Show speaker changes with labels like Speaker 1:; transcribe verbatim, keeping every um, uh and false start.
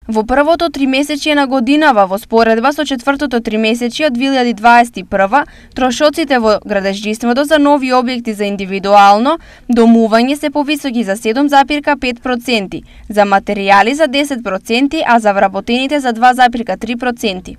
Speaker 1: Во првото тримесечие на годинава, во споредба со четвртото тримесечие од две илјади дваесет и прва, трошоците во градежништвото за нови објекти за индивидуално домување се повисоки за седум запирка пет проценти, за материјали за десет проценти, а за вработените за два запирка три проценти.